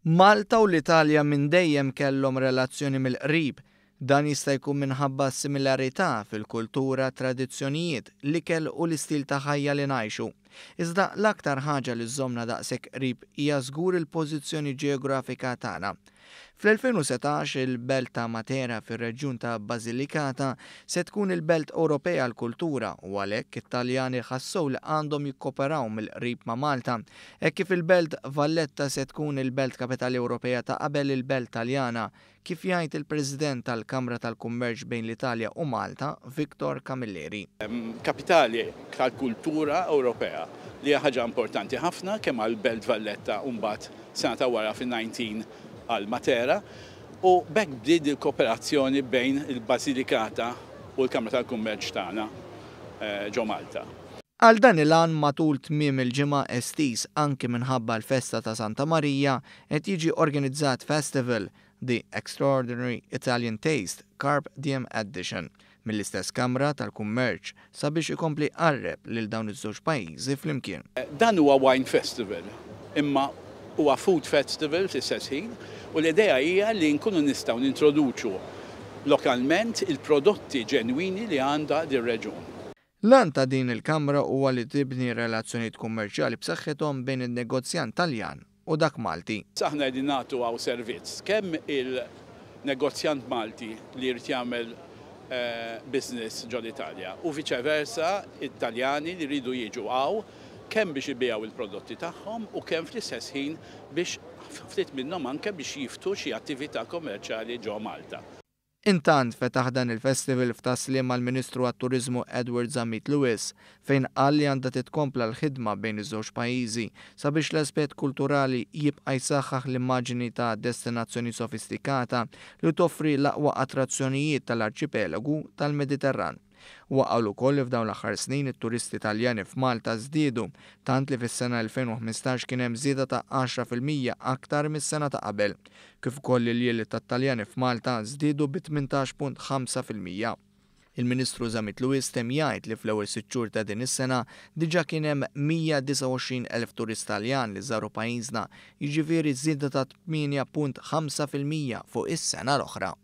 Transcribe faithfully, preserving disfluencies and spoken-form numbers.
Malta u l-Italja minn dejjem kellhom relazzjoni mill-qrib. Dan jista' jkun minħabba similarità fil-kultura, tradizzjonijiet, l-ikel u l-istil ta' ħajja li ngħixu. Iżda l-aktar ħaġa li żżommna daqshekk qrib hija żgur il-pożizzjoni ġeografika tagħna. Fl-elfejn u setax il-belt ta' Matera fir-reġjun ta' Basilicata se tkun il-belt Ewropea għall-kultura u għalhekk it-Taljani ħassew li għandhom jikkoperaw mill-qrib ma' Malta, hekk kif il-belt Valletta se tkun il-belt kapitali Ewropea ta' qabel il-belt Taljana, kif jgħid il-President tal-Kamra tal-Kummerċ bejn l-Italja u Malta, Victor Camilleri. Kapitali tal-kultura Ewropea li hija ħaġa importanti ħafna kemm għall-Belt Valletta u mbagħad sena ta' wara fin-nineteen għal Matera, u b'hekk bdiet il-kooperazzjoni bejn il-Basilicata u l-Kamra tal-Kummerċ tagħna, eh, ġo Malta. Għal dan il-għan matul tmiem il-ġimgħa estiż anki minħabba l-festa ta' Santa Marija qed jiġi organizzat festival The Extraordinary Italian Taste Carpe Diem Edition mill-istess Kamra tal-Kummerċ sabiex ikompli qarreb lil dawn iż-żewġ pajjiżi flimkien. Dan huwa wine festival, imma huwa food festival fl-istess ħin, u l-idea hija li nkunu nistgħu nintroduċu lokalment il-prodotti ġenwini li għandha dir-reġjun. L-għan ta' din il-Kamra huwa li tibni relazzjonijiet kummerċjali b'saħħithom bejn in-negozjant Taljan u dak Malti. Aħna qegħdin nagħtu hawn servizz kemm il-negozjant Malti li jrid jagħmel, eh, business ġol-Italja u viċeversa it-Taljani li jridu jiġu hawn kemm biex ibigħu il-prodotti tagħhom u kemm fl-istess ħin biex ftit minnhom anke biex jiftu xi attività kommerċjali ġo Malta. Intant fetaħ dan il-festival f'Tas-Sliema mal-Ministru għat-Turiżmu Edward Zammit Lewis, fejn qal li għandha titkompla l-ħidma bejn iż-żewġ pajjiżi sabiex l-aspett kulturali jibqa' jsaħħaħ l-immaġini ta' destinazzjoni sofistikata li toffri l-aqwa attrazzjonijiet tal-arċipelagu tal-Mediterran. Huwa qal ukoll li f'dawn l-aħħar snin it-turisti Taljani f'Malta żdiedu, tant li fis-sena elfejn u ħmistax kien hemm żieda ta' għaxra fil-mija aktar mis-sena ta' qabel, kif ukoll il-ljieli tat-Taljani f'Malta żdiedu bi tmintax punt ħamsa fil-mija. Il-Ministru Zammit Lewis temm jgħid li fl-ewwel sitt xhur ta' din is-sena diġà kien hemm mija disgħa u għoxrin elf turist Taljan li żaru pajjiżna, jiġifieri żieda ta' tmienja punt ħamsa fil-mija fuq is-sena l-oħra.